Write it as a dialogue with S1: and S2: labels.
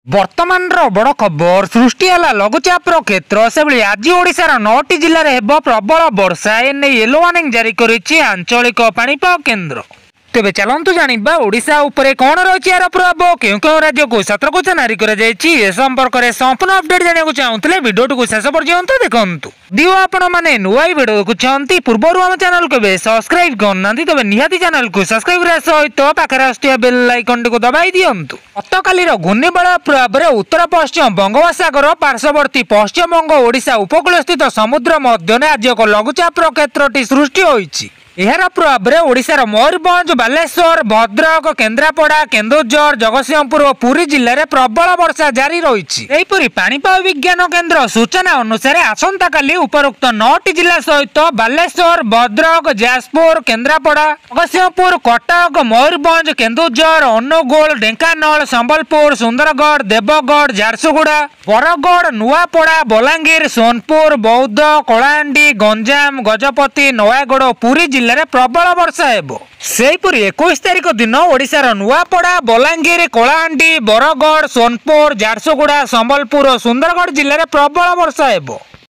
S1: ବର୍ତ୍ତମାନର ବଡ଼ ଖବର, ସୃଷ୍ଟି ହେଲା ଲଘୁଚାପର କ୍ଷେତ୍ର। ସେଭଳି ଆଜି ଓଡ଼ିଶାର 9ଟି ଜିଲ୍ଲାରେ ହେବ ପ୍ରବଳ ବର୍ଷା, ଏନେଇ ୟେଲୋ ୱାର୍ଣ୍ଣିଂ ଜାରି କରିଛି ଆଞ୍ଚଳିକ ପାଣିପାଗ କେନ୍ଦ୍ର। ତେବେ ଚାଲନ୍ତୁ ଜାଣିବା ଓଡ଼ିଶା ଉପରେ କ'ଣ ରହିଛି ଏହାର ପ୍ରଭାବ, କେଉଁ କେଉଁ ରାଜ୍ୟକୁ ସତର୍କ ଜାରି କରାଯାଇଛି, ଏ ସମ୍ପର୍କରେ ସମ୍ପୂର୍ଣ୍ଣ ଅପଡେଟ୍ ଜାଣିବାକୁ ଚାହୁଁଥିଲେ ଭିଡ଼ିଓଟିକୁ ଶେଷ ପର୍ଯ୍ୟନ୍ତ ଦେଖନ୍ତୁ। ଦିଅ ଆପଣମାନେ ନୂଆ ଭିଡ଼ିଓ ଦେଖୁଛନ୍ତି, ପୂର୍ବରୁ ଆମ ଚ୍ୟାନେଲକୁ ଏବେ ସବସ୍କ୍ରାଇବ୍ କରିନାହାନ୍ତି, ତେବେ ନିହାତି ଚ୍ୟାନେଲକୁ ସବସ୍କ୍ରାଇବ୍ କରିବା ସହିତ ପାଖରେ ଆସୁଥିବା ବେଲ୍ ଆଇକନ୍ଟିକୁ ଦବାଇ ଦିଅନ୍ତୁ। ଗତକାଲିର ଘୂର୍ଣ୍ଣିବଳୟ ପ୍ରଭାବରେ ଉତ୍ତର ପଶ୍ଚିମ ବଙ୍ଗୋପସାଗର ପାର୍ଶ୍ୱବର୍ତ୍ତୀ ପଶ୍ଚିମବଙ୍ଗ ଓଡ଼ିଶା ଉପକୂଳସ୍ଥିତ ସମୁଦ୍ର ମଧ୍ୟରେ ଆଜି ଏକ ଲଘୁଚାପର କ୍ଷେତ୍ରଟି ସୃଷ୍ଟି ହୋଇଛି। ଏହାର ପ୍ରଭାବରେ ଓଡ଼ିଶାର ମୟୂରଭଞ୍ଜ, ବାଲେଶ୍ୱର, ଭଦ୍ରକ, କେନ୍ଦ୍ରାପଡ଼ା, କେନ୍ଦୁଝର, ଜଗତସିଂହପୁର ଓ ପୁରୀ ଜିଲ୍ଲାରେ ପ୍ରବଳ ବର୍ଷା ଜାରି ରହିଛି। ସେହିପରି ପାଣିପାଗ ବିଜ୍ଞାନ କେନ୍ଦ୍ର ସୂଚନା ଅନୁସାରେ ଆସନ୍ତାକାଲି ଉପରୋକ୍ତ 9ଟି ଜିଲ୍ଲା ସହିତ ବାଲେଶ୍ୱର, ଭଦ୍ରକ, ଯାଜପୁର, କେନ୍ଦ୍ରାପଡ଼ା, ଜଗତସିଂହପୁର, କଟକ, ମୟୂରଭଞ୍ଜ, କେନ୍ଦୁଝର, ଅନୁଗୁଳ, ଢେଙ୍କାନାଳ, ସମ୍ବଲପୁର, ସୁନ୍ଦରଗଡ଼, ଦେବଗଡ଼, ଝାରସୁଗୁଡ଼ା, ବରଗଡ଼, ନୂଆପଡ଼ା, ବଲାଙ୍ଗୀର, ସୋନପୁର, ବୌଦ୍ଧ, କଳାହାଣ୍ଡି, ଗଞ୍ଜାମ, ଗଜପତି, ନୟାଗଡ଼ ଓ ପୁରୀ ଜିଲ୍ଲାରେ ପ୍ରବଳ ବର୍ଷା ହେବ। ସେହିପରି 21 ତାରିଖ ଦିନ ଓଡ଼ିଶାର ନୂଆପଡ଼ା, ବଲାଙ୍ଗୀର, କଳାହାଣ୍ଡି, ବରଗଡ଼, ସୋନପୁର, ଝାରସୁଗୁଡ଼ା, ସମ୍ବଲପୁର ଓ ସୁନ୍ଦରଗଡ଼ ଜିଲ୍ଲାରେ ପ୍ରବଳ ବର୍ଷା ହେବ।